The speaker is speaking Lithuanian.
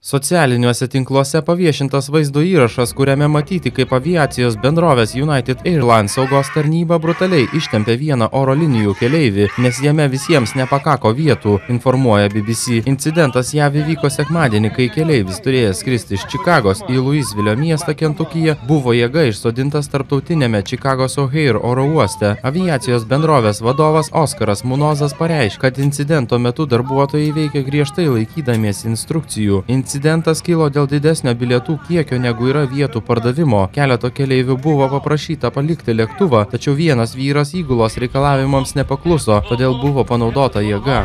Socialiniuose tinkluose paviešintas vaizdo įrašas, kuriame matyti, kaip aviacijos bendrovės United Airlines saugos tarnyba brutaliai ištempė vieną oro linijų keleivį, nes jame visiems nepakako vietų, informuoja BBC. Incidentas JAV įvyko sekmadienį, kai keleivis turėjęs skristi iš Čikagos į Louisville miestą Kentukyje, buvo jėga išsodintas tarptautinėme Čikagos O'Hare oro uoste. Aviacijos bendrovės vadovas Oskaras Munozas pareiškė, kad incidento metu darbuotojai veikė griežtai laikydamiesi instrukcijų. Incidentas kilo dėl didesnio bilietų kiekio, negu yra vietų pardavimo. Keleto keleivių buvo paprašyta palikti lėktuvą, tačiau vienas vyras įgulos reikalavimams nepakluso, todėl buvo panaudota jėga.